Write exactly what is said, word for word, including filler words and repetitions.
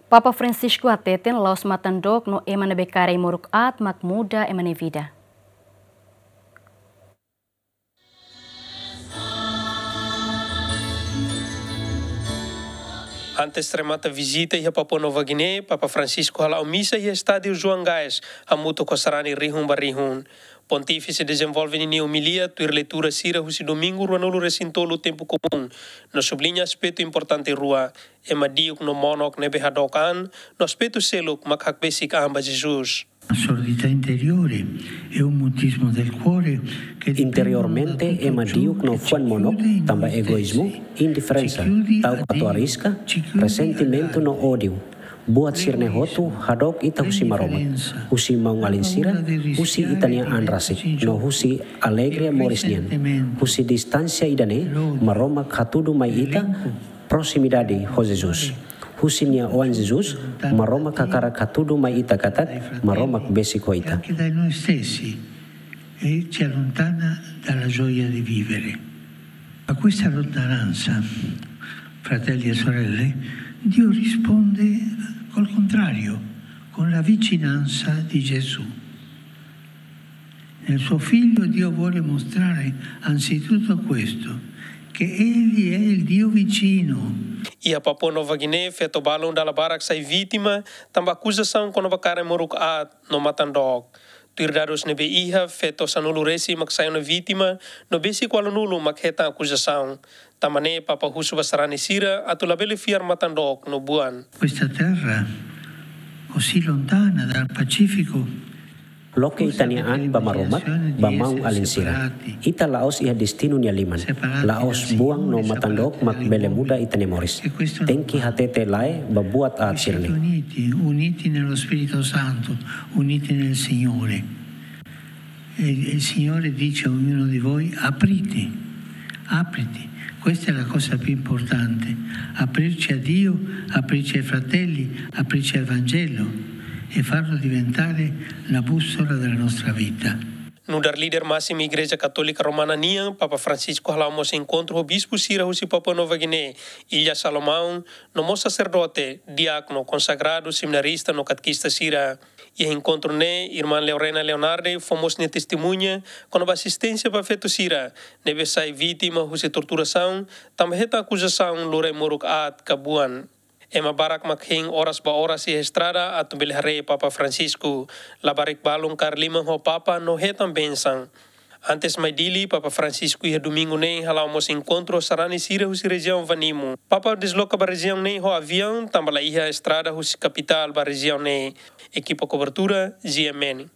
Papa Francisco hateten la'ós matan-dook no ema ne'ebé kaer ai-moruk aat mak muda ema nia vida. Antes remata vizita iha Papua Nova Guiné, Papa Francisco hala'o misa iha Estádiu João Gás, hamutuk ho sarani rihun ba rihun. Pontífise dezenvolve ninia omilia tuir leitura sira husi Domingu ruanulu-resin-tolu Tempu Komún, no subliña aspetu importante rua, ema di'ak no monok ne'ebé hadook an, no aspetu seluk mak hakbesik an ba Jesus. Una sordità interiore e un mutismo del cuore che dipendono da tutto ciò che ci chiude in noi. Interiormente, ema di'ak no fuan monok tanba egoízmu, indiferensa, ta'uk atu arrisku, resentimentu no ódiu. Buat sira-ne'e hotu hadook ita husi Maromak, husi maun-alin sira, husi ita-nia an rasik, no husi alegria moris nian. Husi distánsia ida-ne'e, Maromak hatudu mai ita proximidade ho Jesus. Husi nia Oan Jesus, Maromak hakarak hatudu mai ita katak Maromak besik ho ita. Anche da noi stessi, e ci allontana dalla gioia di vivere. A questa lontananza, fratelli e sorelle, Dio risponde col contrario, con la vicinanza di Gesù. Nel suo figlio Dio vuole mostrare anzitutto questo, che egli è il Dio vicino. Iha Papua Nova Guiné, feto balun dala barak sai vítima tanba akuzasaun kona-ba kaer ai-moruk aat no matan-dook. Tuir dadus ne'ebé iha, feto sanulu-resin mak sai ona vítima, no besik ualunulu mak hetan akuzasaun. Tanba ne'e Papa husu ba sarani sira atu labele fiar matan-dook no buan. Questa terra, così lontana dal pacifico, loke ita-nia an ba Maromak, ba maun-alin sira. Ita la'ós iha destinu nia liman. La'ós buan no matan-dook mak bele muda ita-nia moris. Tenke hatete lae ba buat aat sira-ne'e. Uniti, uniti nello Spirito Santo, uniti nel Signore. E il Signore dice a ognuno di voi: aprite, aprite. Questa è la cosa più importante, aprirci a Dio, aprirci ai fratelli, aprirci al Vangelo e farlo diventare la bussola della nostra vita. Nu'udar líder másimu Igreja Katólika Romana nian, Papa Francisco hala'o mós enkontru ho bispu sira husi Papua Nova Guiné, Ilha Salomão, no mós saserdote, diákono, konsagradu, seminarista no katekista sira. Iha enkontru ne'e, Irmán Leorena Leonardi fó mós nia testemuña kona-ba asisténsia ba feto sira ne'ebé sai vítima husi torturasaun tanba hetan akuzasaun lori ai-moruk aat ka buan. Ema barak mak hein oras ba oras iha estrada atu bele haree Papa Francisco. Labarik balun kaer liman ho Papa no hetan bensaun. Antes mai Dili, Papa Francisco iha Domingu ne'e hala'o mós enkontru ho sarani sira husi rejiaun Vanimo. Papa desloka ba rejiaun ne'e ho aviaun tanba la iha estrada husi kapitál ba rejiaun ne'e. Ekipa kobertura, G M N.